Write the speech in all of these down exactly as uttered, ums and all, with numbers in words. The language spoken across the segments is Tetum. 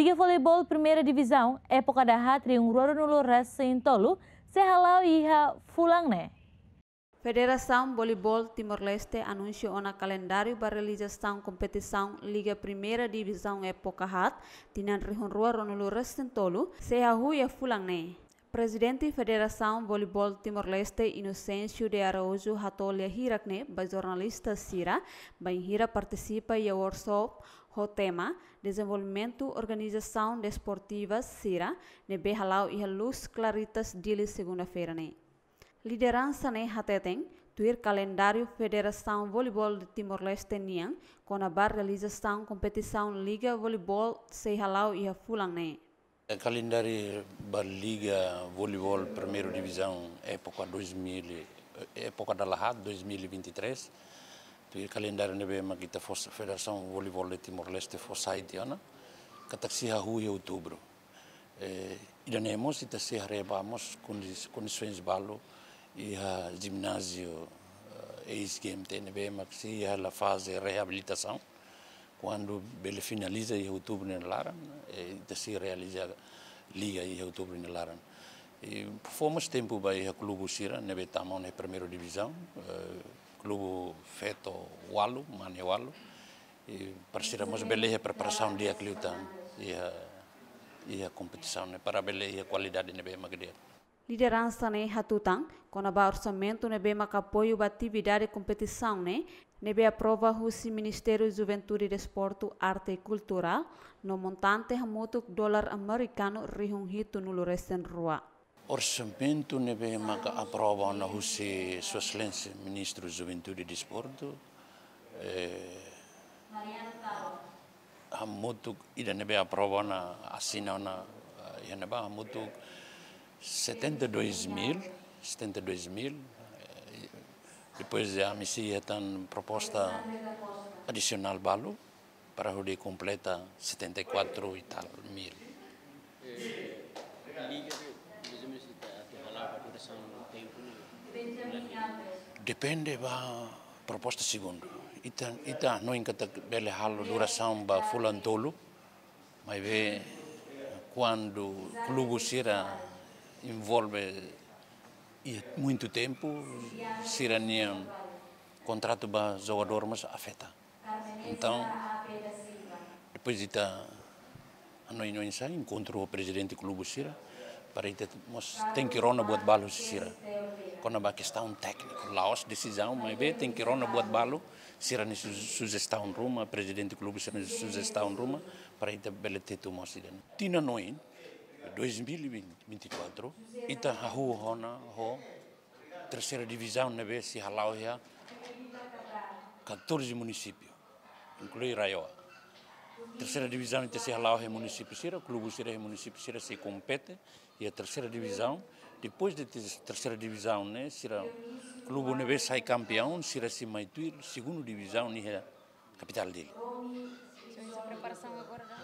Liga Voleibol Primeira Divizaun époka dahaat rihun rua ruanulu resin tolu sei hala'o iha fulan ne'e. Federasaun Voleibol Timor-Leste anunsia ona kalendáriu ba realizasaun kompetisaun Liga Primeira Divizaun époka haat tinan rihun rua ruanulu resin tolu sei hahú iha fulan ne'e. Prezidente Federasaun Voleibol Timor-Leste, Inocêncio de Araújo, hato'o lia hirak-ne'e ba jornalista sira bainhira partisipa iha workshop ho tema Dezenvolvimentu Organizasaun Desportiva sira ne'ebé hala'o iha Luz Claritas, Dili, segunda-feira ne'e. Lideransa ne'e hateten, tuir kalendáriu Federasaun Voleibol de Timor-Leste nian, kona-ba realizasaun kompetisaun Liga Voleibol sei hala'o iha fulan ne'e. Kalendáriu ba Liga Voleibol Primeira Divizaun époka dois mil, époka dala haat, dois mil e vinte e três, tuir kalendáriu ne'ebé mak ita fó, Federasaun Voleibol de Timor-Leste fó sai tiha ona, katak sei hahú iha outubru. Eh, ida-ne'e mós ita sei haree ba mós kondi-, kondisoens balu iha jináziu, eh, eis-G M T ne'ebé mak sei iha hela faze reabilitasaun. Kuandu bele finaliza iha outubru nia laran, eh, ita sei realiza liga iha outubru nia laran. I fó mós tempu ba iha klubu sira ne'ebé tama ona iha primeira divizaun, eh, klubu feto ualu, mane ualu, i para sira mós bele iha preparasaun di'ak liután iha, iha kompetisaun ne'e para bele iha kualidade ne'ebé mak di'ak. Lideransa ne'e hatutan kona-ba orsamentu ne'ebé maka apoiu ba atividade kompetisaun ne'e, ne'ebé aprova husi Ministériu Juventude, Desportu, Arte i Kultura, no montante hamutuk dolar amerikanu rihun hitunulu resin rua. Orsamentu ne'ebé maka aprova ona husi Sua Exelénsia Ministru Juventude i Desportu, eh, hamutuk ida ne'ebé aprova ona, asina ona, eh, iha ne'ebá hamutuk setenta e dois mil, setenta e dois mil, eh, depois ami sei hetan proposta adisionál balu para hodi kompleta setenta e quatro e tal mil. Eh, liga de, mais ou menos, ita atu hala'o ba durasaun tempu ne'e? Depende ba proposta segundu. Ita, ita hanoin katak bele halo durasaun ba fulan tolu, maibé kuandu klubu sira envolve iha muitu tempu, sira-nia kontratu ba jogadór mós afeta. Entaun, depois ita hanoin oinsá enkontru ho prezidente klubu sira, para ita mós tenke rona buat balu husi sira. Kona-ba kestaun tékniku, la'ós desizaun, maibé tenke rona buat balu, sira-nia su-, sujestaun ruma, prezidente klubu sira-nia sujestaun ruma, para ita bele tetu mós ida-ne'e. Tinan oin, dois mil e vinte e quatro, ita hahú ona ho terseira divizaun ne'ebé sei hala'o iha catorze munisípiu, inklui RAEOA. Terseira divizaun ita sei hala'o iha munisípiu sira, klubu sira iha munisípiu sira sei kompete iha terseira divizaun. Depois de ter-, terseira divizaun ne'e, sira klubu ne'ebé sai kampiaun, sira sei mai tuir segundu divizaun iha kapitál Dili. Só essa preparação agora da...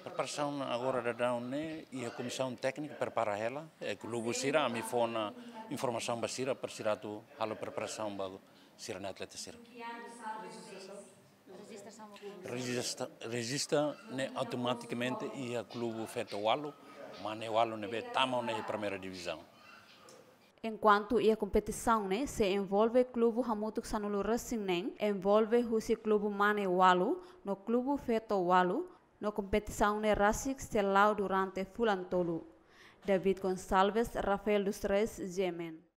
Preparasaun agora daudaun ne'e, iha komisaun téknika prepara hela, eh, klubu sira, ami fó ona informasaun ba sira, para sira atu halo preparasaun ba sira-nia atleta sira. Rejista, rejista ne'e automatikamente iha klubu feto ualu, mane ualu ne'ebé tama ona iha primeira divizaun. Enkuantu iha kompetisaun ne'e sei envolve klubu hamutuk sanulu resin neen, envolve husi klubu mane ualu no klubu feto ualu, no kompetisaun ne'e rasik sei la'o durante fulan tolu. David Gonçalves, Rafael dos Reis, G M N.